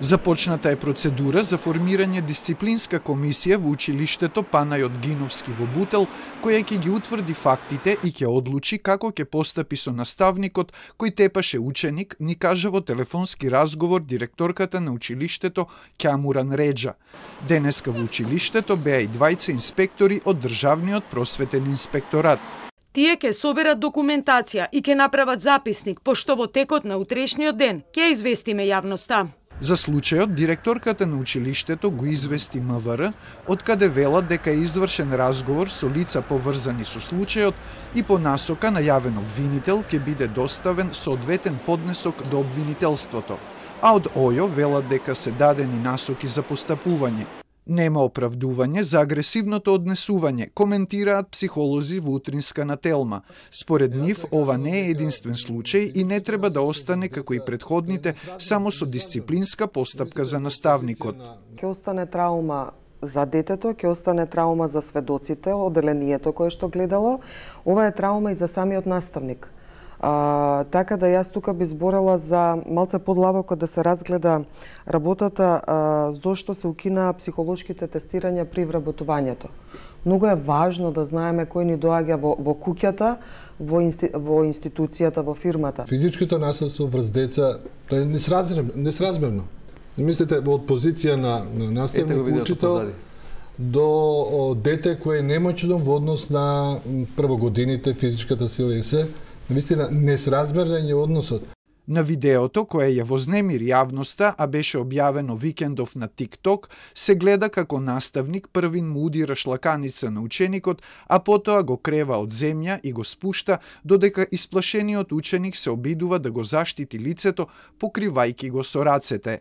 Започната е процедура за формирање дисциплинска комисија во училиштето Панајот Гиновски во Бутел, која ќе ги утврди фактите и ќе одлучи како ќе постапи со наставникот кој тепаше ученик, ни кажа во телефонски разговор директорката на училиштето Ќамуран Реџа. Денеска во училиштето беа и двајца инспектори од Државниот просветен инспекторат. Тие ќе соберат документација и ќе направат записник, пошто во текот на утрешниот ден ќе известиме јавноста. За случајот, директорката на училиштето го извести МВР, од каде велат дека е извршен разговор со лица поврзани со случајот и по насока на јавен обвинител ќе биде доставен соодветен поднесок до обвинителството, а од ОЈО велат дека се дадени насоки за постапување. Нема оправдување за агресивното однесување, коментираат психолози во утринска на Телма. Според нив, ова не е единствен случај и не треба да остане како и предходните само со дисциплинска постапка за наставникот. Ќе остане траума за детето, ќе остане траума за сведоците, оделението кое што гледало. Ова е траума и за самиот наставник. Така да јас тука би зборела за малце подлабоко да се разгледа работата зошто се укина психолошките тестирања при вработувањето. Многу е важно да знаеме кој ни доаѓа во куќата, во институцијата, во фирмата. Физичкото насилство врз деца е несразмерно. Мислите од позиција на наставник, учител до дете кое е немоќно во однос на првогодините, физичката сила и се. Вистина, несразмерен е односот. На видеото, кое ја вознемири јавноста, а беше објавено викендов на TikTok, се гледа како наставник првин му удира шлаканица на ученикот, а потоа го крева од земја и го спушта, додека исплашениот ученик се обидува да го заштити лицето, покривајќи го со рацете.